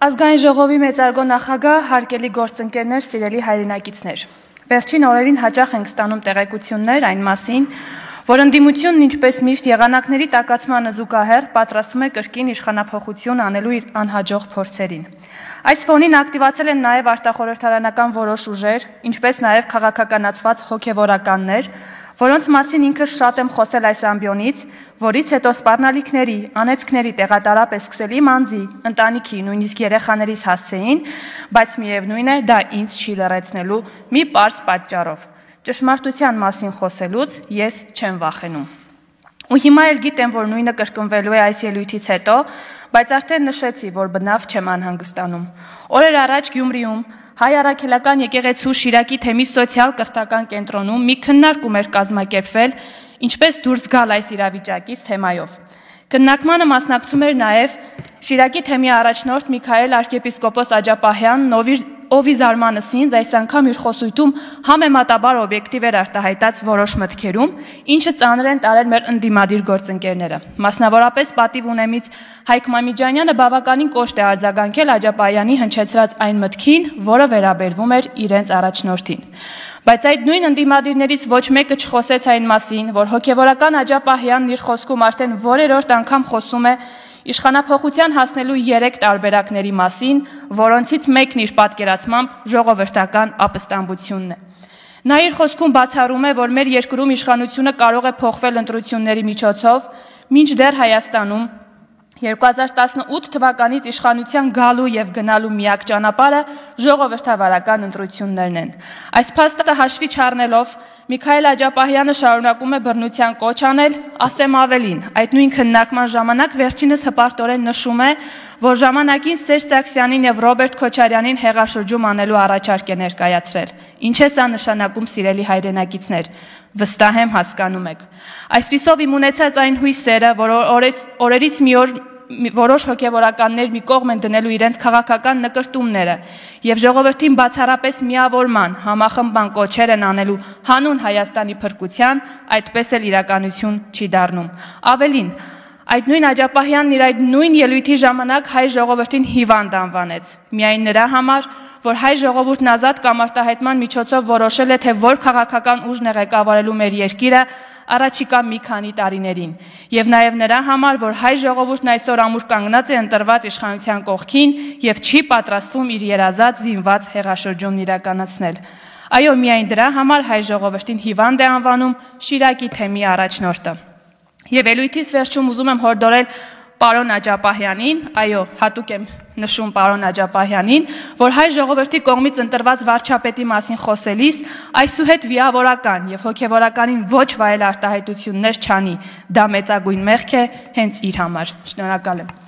Ազգային ժողովի մեծարգո նախագահ, հարգելի գործընկերներ, սիրելի հայրենակիցներ։ Վերջին օրերին հաճախ ենք ստանում տեղեկություններ այն մասին, որ ընդդիմությունն ինչպես միշտ եղանակների տաքացմանը զուգահեռ պատրաստվում է կրկին իշխանափոխություն անելու իր անհաջող փորձերին։ Այս ֆոնին ակտիվացել են նաև արտախորհրդարանական որոշ ուժեր, ինչպես նաև քաղաքականացված հոգևորականներ, որոնց մասին ինքս շատ եմ խոսել այս ամբիոնից, որից հետո սպառնալիքների, անեծքների տեղատարապ է սկսել իմ անձի, ընտանիքի, նույնիսկ երեխաներիս հասցեին, բայց միևնույն է, դա ինձ չի լռեցնելու մի պարզ պատճառով։ Ճշմարտության մասին խոսելուց ես չեմ վախենում։ Ու հիմա էլ գիտեմ, որ նույնը կրկնվելու է այս ելույթից հետո, բայց արդեն նշեցի, որ բնավ չեմ անհանգստանում։ Օրեր առաջ Գյումրիում Հայ առաքելական եկեղեցու Շիրակի թեմի սոցիալ-կրթական կենտրոնում մի քննարկում էր կազմակերպվել, ինչպես դուրս գալ այս իրավիճակից թեմայով։ Քննարկմանը մասնակցում էր նաև Շիրակի թեմի առաջնորդ Միքայել arczepiskopos Աջապահյանն, ով ի զարմանս ինձ այս անգամ իր խոսույթում համեմատաբար օբյեկտիվ էր արտահայտած որոշ մտքերում, ինչը ծանր են տարել մեր ընդդիմադիր գործընկերները։ Մասնավորապես պատիվ ունեմից Հայկ Մամիջանյանը բավականին կոշտ է արձագանքել Աջապահյանի հնչեցրած այն մտքին, որը վերաբերվում էր իրենց առաջնորդին։ Բայց այդ նույն ընդդիմադիրներից ոչ մեկը չխոսեց այն մասին, որ հոգևորական Աջապահյանն իր խոսքում արդեն որերորդ անգամ խոսում է իշխանափոխության հասնելու 3 տարբերակների մասին, որոնցից մեկն իր պատկերացմամբ ժողովրդական ապստամբությունն է։ Նա իր խոսքում բացառում է, որ մեր երկրում իշխանությունը կարող է փոխվել ընտրությունների միջոցով, մինչդեռ Հայաստանում 2018 թվականից իշխանության գալու եւ գնալու միակ ճանապարհը ժողովրդավարական ընտրություններն են։ Այս փաստը հաշվի չառնելով Միքայել Աջապահյանը շարունակում է բռնության կոչ անել, ասեմ ավելին, այդ նույն քննարկման ժամանակ վերջինս հպարտորեն նշում է, որ ժամանակին Սերժ Սարգսյանին եւ Ռոբերտ Քոչարյանին հեղաշրջում անելու առաջարկ է ներկայացրել։ Ինչ է սա նշանակում, սիրելի հայրենակիցներ, վստահ եմ հասկանում եք։ Այսպիսով իմ ունեցած այն հույսերը, որ օրերից մի օր որոշ հոգևորականներ մի կողմ են դնելու իրենց քաղաքական նկրտումները եւ ժողովրդին բացառապես միավորման, համախմբման կոչեր են անելու հանուն Հայաստանի փրկության, այդպես էլ իրականություն չի դառնում։ Ավելին, այդ նույն Աջապահյանն իր այդ նույն ելույթի ժամանակ հայ ժողովրդին հիվանդ անվանեց, միայն նրա համար, որ հայ ժողովուրդն ազատ կամ արտահայտման միջոցով որոշել է, թե որ քաղաքական ուժն է ղեկավարելու մեր երկիրը առաջիկա մի քանի տարիներին, եւ նաեւ նրա համար, որ հայ ժողովուրդն այսօր ամուր կանգնած է ընտրված իշխանության կողքին եւ չի պատրաստվում իր երազած զինված հեղաշրջումն իրականացնել։ Այո, միայն դրա համար հայ ժողովրդին հիվանդ է անվանում Շիրակի թեմի առաջնորդը։ Եվ ելույթից վերջում ուզում եմ հորդորել պարոն Աջապահյանին, այո, հատուկ եմ նշում պարոն Աջապահյանին, որ հայ ժողովրդի կողմից ընտրված վարչապետի մասին խոսելիս այսուհետ վիավորական եւ հոգեվորականին ոչ վայել արտահայտություններ չանի, դա մեծագույն մեղք է հենց իր համար։ Շնորհակալ եմ։